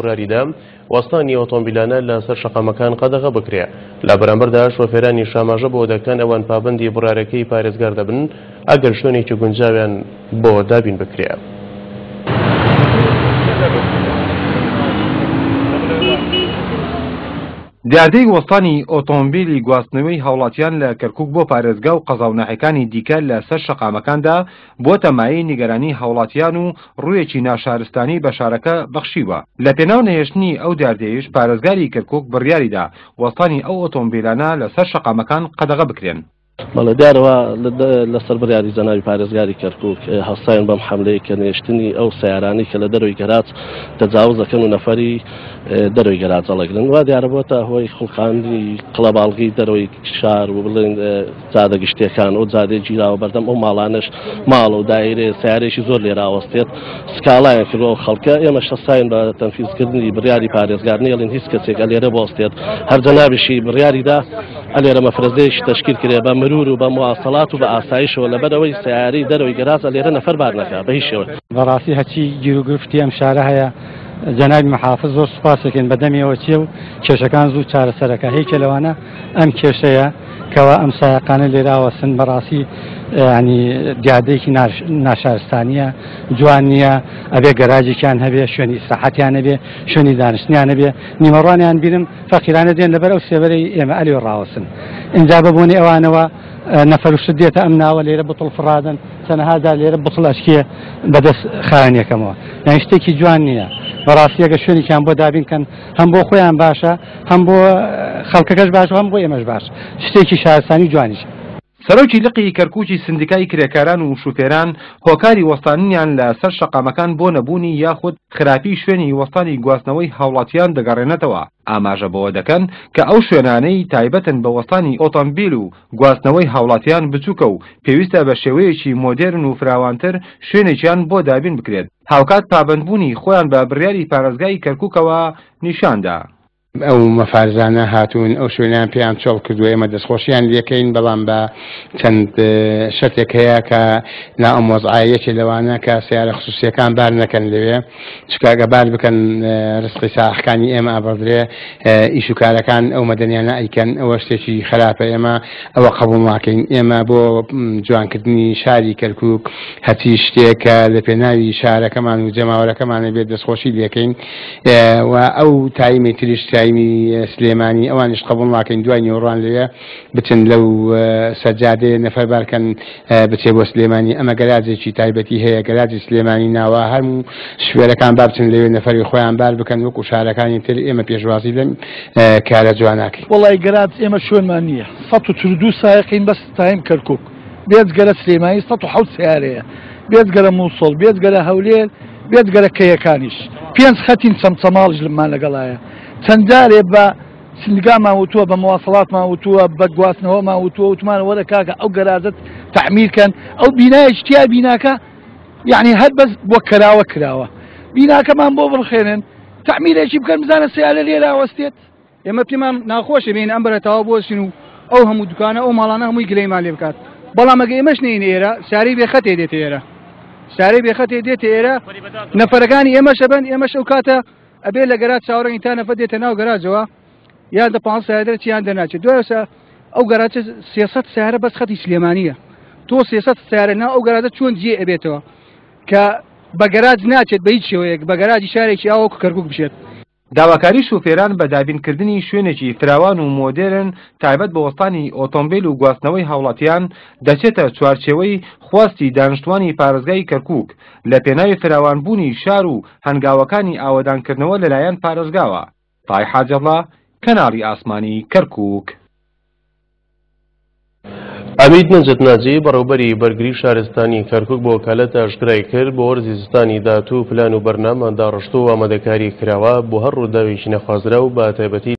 بڕیاریدا وەستانی ئۆتۆمبیلانە لە سەر شەقامەکان قەدەغە بکرێ. لە بەرامبەردا شۆفێرانیش ئاماژە بەوە دەکەن ئەوان پابەندی بڕیارەکەی پارێزگار دەبن ئەگەر شوێنێکی گونجاویان بۆ دابین بکرێ. دیاردەی وەستانی ئۆتۆمبیلی گواستنەوەی هاوڵاتیان لە کەرکوک بۆ پارێزگا و قەزا و ناحیەکانی دیکە لە سەر شەقامەکاندا بووەتە مایەی نیگەرانی هاوڵاتیان و ڕوویەکی ناشارستانی بە شارەکە بەخشیوە. لە پێناو نەهێشتنی ئەو دیاردەیەیش پارێزگاری کەرکوک بڕیاریدا وەستانی ئەو ئۆتۆمبیلانە لەسەر شەقامەکان قەدەغە بکرێن. بەڵێ دیارە وا لەسەر بڕیاری جەنابی پارێزگاری کەرکوک هەستاین بەم حەملەیە کە نێشتنی ئەو سەیارانەی کە لە دەرەوەی گەراج تەجاوز دەکەن و نەفەری دەرەوەی گەراج هەڵەگرن وا دیارە بۆتە هۆی خوڵقاندنی قڵەباڵغی دەرەوەی شار و بڵێن جادە گشتیەکان ئەو جادەیە گیراوە بەردەم ئەو ماڵانەش ماڵ و دایرێ سیارێکی زۆر لێرە ئەوەستێت سکاڵایان کردووە ئەو خەڵکە ئێمەش هەستاین بە تەنفیزکردنی بڕیاری پارێزگار نێڵین هیچ کەسێک ئەلێرە بۆستێت هەر جەنابیشی بڕیاریدا ئەلێرە مەفرەزەیەکی تەشکیل کرێ بە مرور و بە مواصلات و بە ئاسایشەوە لەبەرئەوەی سیارەی دەرەوەی گەراج ئەلێرە نەفەر بار نەکا بە هیچ شێوەیەک. بەڕاستی هەرچی گیروگرفتی ئەم شارە هەیە جەنابی محافز زۆر سوپاسێکن بەدەمیەوە چیە و کێشەکان زوو چارەسەرەکە هەیکە لەوانە ئەم کێشەیە کەوا ئەم سایەقانە لێرە ئاوەسن بەڕاستی ینی دیاردەیەکی ناشارستانیە جوان نییە ئەبێ گەراجێکیان هەبێ شوێنی ئیسراحەتیان هەبێ شوێنی دانیشتنیان هەبێ نیمەڕوانیان بینم فەقیرانە دێن لەبەر ئەو سێبەرەی ئێمە ئەلێ ڕاوەسن ئینجا بە بۆنەی ئەوانەوە نەفەروشت دێتە ئەم ناوە لێرە بتڵ فڕادەن چەنەها جار لێرە بتڵ ئەشکێ بەدەست خاوێنیەکەمەوە یانی شتێکی جوان نییە بەڕاستی ئەگەر شوێنێکیان بۆ دابین کەن هەم بۆ خۆیان باشە هەم بۆ خەڵکەکەش باشە هەم بۆ ئێمەش باش شتێکی شارستانی جوانیشە. سەرۆکی لقی کەرکوکی سندیکای کرێکاران و شوفێران هۆکاری وەستاننیان لە سەر شەقامەکان بۆ نەبوونی یاخود خراپی شوێنی وەستانی گواستنەوەی هاوڵاتیان دەگەڕێنێتەوە، ئاماژە بەوە دەکەن کە ئەو شوێنانەی تایبەتن بە وەستانی ئۆتۆمبیل و گواستنەوەی هاوڵاتیان بچوکە و پێویستە بە شێوەیەکی مۆدێرن و فراوانتر شوێنێکیان بۆ دابین بکرێت، هاوکات پابەندبوونی خۆیان بە بڕیاری پارێزگای کەرکوکەوە نیشاندا. ئەو مەفارزانە هاتوون ئەو شوێنەیان پێیان چۆڵ کردووە، ئێمە دەستخۆشیان لێکەین، بەڵام بە چەند شەرتێک هەیە کە نا ئەم وەزعە یەکێ لەوانە کە سەیارە خسوسیەکان بار نەکەن لەوێ، چونکە ئەگە بار بکەن رزقی سائحکانی ئێمە ئەبڕدرێ، ئیش و کارەکان ئەو مەدەنیانە ئەیکەن، ئەوە شتێکی خراپە، ئێمە ئەوە قبوڵ ناکەین. ئێمە بۆ جوانکردنی شاری کەرکوک هەرچی شتێک کە لە پێناوی شارەکەمان و جەماوەرەکەمانە بێت دەستخۆشی لێکەین و ئەو تایمی تریش تایمی سلێمانی ئەوانیش قبوڵ ناکەین دوای نیوەڕوان لەوێ بچن لەو سەرجادەیە نەفەر بارکەن بچێ بۆ سلێمانی ئەمە گەراجێکی تایبەتی هەیە گەراجی سلێمانی ناوە هەموو شوێرەکان با بچن لەوێ نەفەری خۆیان بار بکەن وەکو شارەکانی تر ئێمە پێشوازی لەم کارە جواناکەین. وەڵای گەراج ئێمە شوێنمان نییە 142 سایەقین بەس تایم کەرکوک بێجگەلە سلێمانی 107 سەیارەیە بێجگەلە موسڵ بێجگەلە هەولێر بێجگەلە کەیەکانیش پێنج خەتین چەمچەماڵیش لەمان لەگەڵایە چەند جارێ بە سندگامان وتووە بە مواصلاتمان وتووە بە گواستنەوەمان وتووە وتمان وەرە کاکە ئەو گەراجەت تەعمیر کەن ئەو بینایەکی تیا بیناکە یعنی هەر بەس بۆ کراوە کراوە بیناکەمان بۆ بڕخێنن تەعمیرێکی بکەن بزانە سیارە لێرە ئەوەستێت. ئێمە پێمان ناخۆشە بێین ئەم بەرە تەواو بوەستین و ئەو هەموو دوکانە ئەو ماڵانە هەمووی گلەیمان لێ بکات بەڵام ئەگە ئێمەش نەین ئێرە سیارەی بێخەتێ دێتە ئێرە سیارەی بێخەتێ دێتە ئێرە نەفەرەکانی ئێمەش ئەبەن ئێمەش ئەو کاتە ئەبێ لە گەراج چاوەڕێین تا نەفەر دێتە ناو گەراجەوە یان دە پانزە سیارە دەرچێ یان دەرناچێت دوای ئەوسا ئەو گەراجە 300 سیارە بەس خەتی سلێمانیە تۆ 300 سیارە ناو ئەو گەراجە چۆن جێ ئەبێتەوە کە بە گەراج ناچێت بە هیچ شێوەیەک بە گەراجی شارێکی ئاوەکو کەرکوک بچێت. داواکاری شوفێران بە دابینکردنی شوێنێکی فراوان و مۆدێرن تایبەت بە وەستانی ئۆتۆمبیل و گواستنەوەی هاوڵاتیان دەچێتە چوارچێوەی خواستی دانیشتوانی پارێزگای کەرکوک لە پێناوی فراوانبوونی شار و هەنگاوەکانی ئاوەدانکردنەوە لەلایەن پارێزگاوە. تای حاجەڵا، کەناڵی ئاسمانی کەرکوک. عەمید نەجەت ناجی، بەڕێوەبەری بەرگری شارستانی کەرکوک بۆ وەکالەت ئاشکرای کرد، بۆ وەرزی زستانی داهاتوو پلان و بەرنامەمان داڕشتووە و ئامادەکاری کراوە بۆ هەر ڕووداوێکی نەخوازراو بە تایبەتی.